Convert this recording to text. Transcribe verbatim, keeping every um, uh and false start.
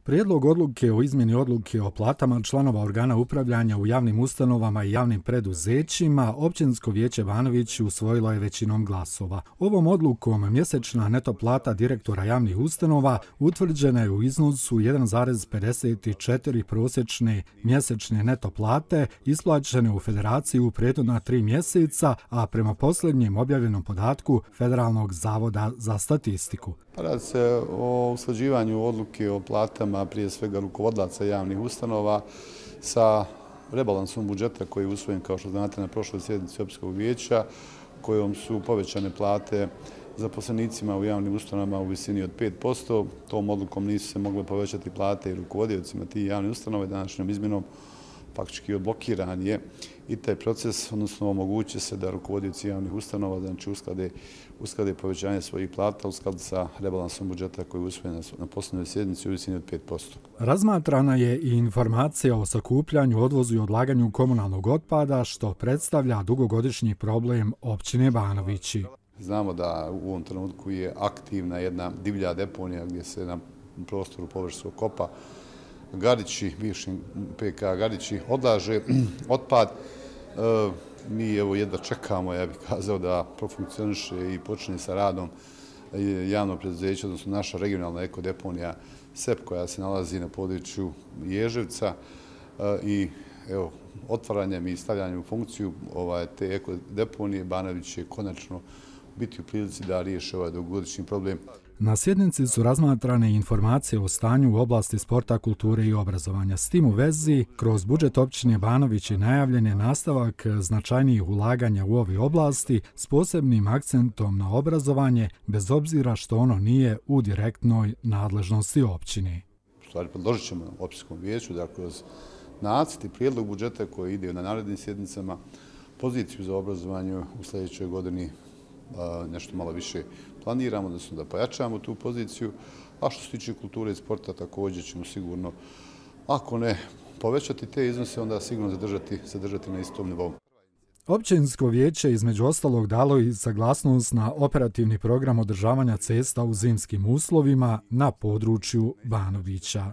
Prijedlog odluke o izmjeni odluke o platama članova organa upravljanja u javnim ustanovama i javnim preduzećima Općinsko vijeće Banović usvojilo je većinom glasova. Ovom odlukom mjesečna neto plata direktora javnih ustanova utvrđena je u iznosu jedan zarez pedeset četiri prosječne mjesečne neto plate isplaćene u Federaciji u prethodna tri mjeseca, a prema posljednjem objavljenom podatku Federalnog zavoda za statistiku. Radi se o usklađivanju odluke o platama prije svega rukovodlaca javnih ustanova sa rebalansom budžeta koji je usvojen, kao što znate, na prošloj sjednici Općinskog vijeća, kojom su povećane plate zaposlenicima u javnim ustanovama u visini od pet posto. Tom odlukom nisu se mogle povećati plate i rukovodiocima tih javnih ustanova i današnjom izmjenom faktički odblokiran je i taj proces, odnosno omoguće se da rukovodioci javnih ustanova znači usklade, usklade povećanje svojih plata u skladu sa rebalansom budžeta koji je usvojen na posljednjoj sjednici u visini od pet posto. Razmatrana je i informacija o sakupljanju, odvozu i odlaganju komunalnog otpada, što predstavlja dugogodišnji problem općine Banovići. Znamo da u ovom trenutku je aktivna jedna divlja deponija gdje se na prostoru površinskog kopa Garići, bivši P K Garići, odlaže otpad. E, mi evo jedva čekamo, ja bih kazao, da profunkcioniše i počne sa radom javno preduzeće, odnosno naša regionalna ekodeponija S E P koja se nalazi na području Ježevca e, i evo, otvaranjem i stavljanjem u funkciju ovaj, te ekodeponije Banović će konačno biti u prilici da riješi ovaj dugogodišnji problem. Na sjednici su razmatrane informacije o stanju u oblasti sporta, kulture i obrazovanja. S tim u vezi, kroz budžet općine Banovići najavljen je nastavak značajnijih ulaganja u ove oblasti s posebnim akcentom na obrazovanje, bez obzira što ono nije u direktnoj nadležnosti općine. U stvari, predložit ćemo općinskom vijeću da kroz nacrt i prijedlog budžeta koji ide na narednim sjednicama poziciju za obrazovanje u sljedećoj godini nešto malo više planiramo, odnosno da pojačamo tu poziciju, a što se tiče kulture i sporta također ćemo sigurno, ako ne povećati te iznose, onda sigurno zadržati, zadržati na istom nivou. Općinsko vijeće između ostalog dalo i saglasnost na operativni program održavanja cesta u zimskim uslovima na području Banovića.